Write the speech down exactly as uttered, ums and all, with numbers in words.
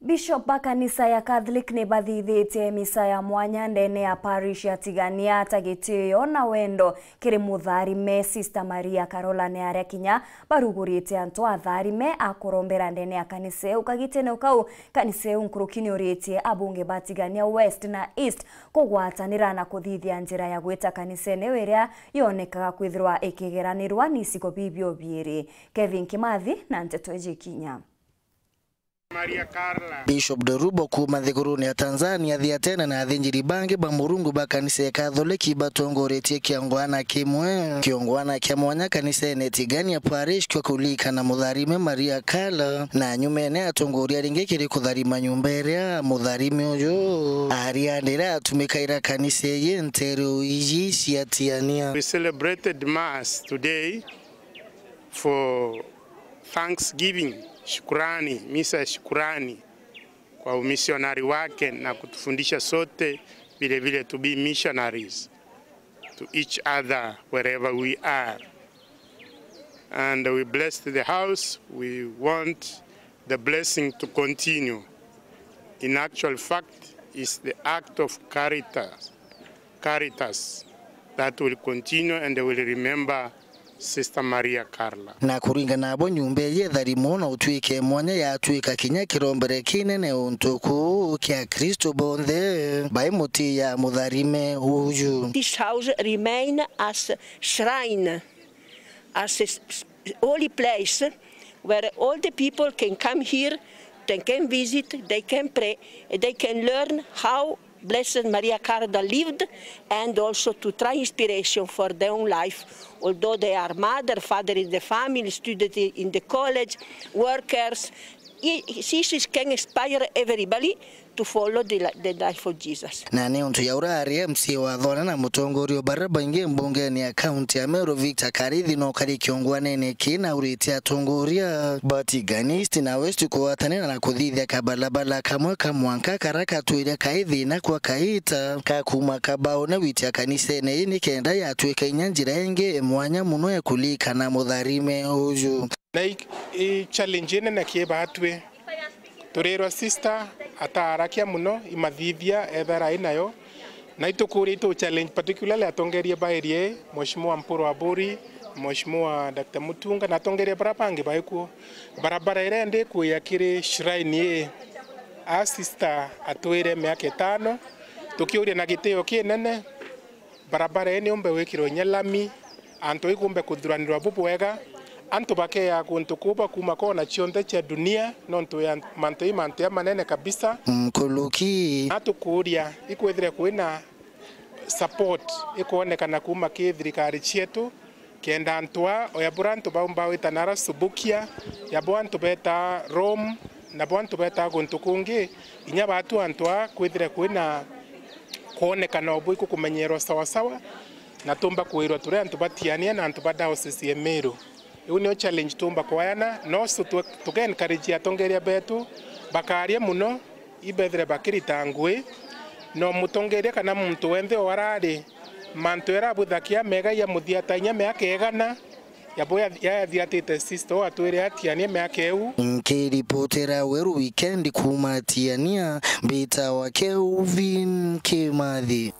Bishop ba kanisa ya Catholic ni bathithitie misa ya mwanya ndene ya parish ya Tigania ta gitio na wendo kiri mutharime. Sister Maria Carola ni aria kinya barugurite antu atharime a kurombera ndene ya kanisa iu. Kagitene kau, kanisa iu nkuruki ni uritie abunge ba Tigania West na East kugwatanira na kuthithia njira ya gwita kanisene iu iria yonekaga kwithirwa ikigeranirwa ni icigo bibio biiri. Kevin Kimathi na nteto iji kinya. Bishop Dorubo kuuma nthigurune ya Tanzania, Thiatena na athinjiri bangi ba Murungu ba kanisa ya Katholiki batongoretie kiongwana kimwe. Kiongwana kia mwanya kanisene Tigania Parish kio kulikana mutharime Maria Kala, na nyumene atongoria ringi kiri kutharima nyumba iria mutharime uyu arianire atumikaira kanisa iyi nteru iji cia Tiania. We celebrated Mass today for thanksgiving, shukrani, misa ya shukrani kwa umisionari wake na kutufundisha sote vile vile to be missionaries to each other wherever we are. And we blessed the house. We want the blessing to continue. In actual fact, is the act of caritas, caritas that will continue and will remember Sister Maria Carla. Na kuringana nabo, nyumba iji itharimwo na utwike mwanya yatwika kinya kirombere kinene untu kuu kia Kristo bonthe bai mutiya mutharime uju. This house remain as shrine, as a s-, s-, holy place where all the people can come here, they can visit, they can pray, they can learn how Blessed Maria Carla lived, and also to try inspiration for their own life. Although they are mother, father in the family, student in the college, workers, i-, i-, she, she can inspire everybody to follow the, li-, the life of Jesus. Na ni untu ya urari M C A wa Thwana na mutongoria wa baria baingi mbungene ya kaunti ya Meru, Victor Karithi, no kari kiongwanene kina urite atongoria ba Tigania East na West kugwatanira na kuthithia kabalabala kamwe ka mwanka kara katwire kai thina kwa kaita ka kuma Kabaune gwitia kanisene ii nikenda yatwika inya njira ingi mwanya muno ya kulikana mutharime uju. Na i, i challenge inene ki batwi. Turirwa sister ataarakia muno, imathithia ethera ai nayo. Na itukuria itu challenge particularly atongeria ba area ii, Mheshimiwa Mpuru Aburi, Mheshimiwa Doctor Mutunga na atongeria bara bangi baikuo. Barabara iria indi kuya kiri shrine ii, a sister atwire miaka itano, tukiuria na gitio kinene, barabara ii niumbe wikirwe inya lami, antu ikumbe kuthuranirwa bubwega, antu bakeya kuntu kuu bakuma kona cionthe cia dunia, nontu ya mantu ii mantu ya manene kabisa. Nkuruki. Na tukuuria, ikwithire kwina support ikwonekana kuma ki thirikari cietu, kenda antu aa, oya bura antu baumba wita nara Subukia, ya bo antu betaa Rome, na bo antu betaa guntu kungi, inya batu antu aa kwithire kwina kwonekana o bwiku kumenyerwa sawasawa, na tumba kwirwa turi antu ba Tiania na antu ba diocese ya Meru. Iu nio challenge tumba kwayana, no so tu-, tuke encourage atongeria betu bakaria muno, ibethire bakirita ngui, no mutongeria kana muntu wenthe o arari mantu era abwithakia mega ya muthia ta inya miaka igana, yabo ya, yathiatite sister o atwire atiania miaka iu. Nkiripotera Weru Weekend kuma Tiania, mbita wa Kelvin Kimathi.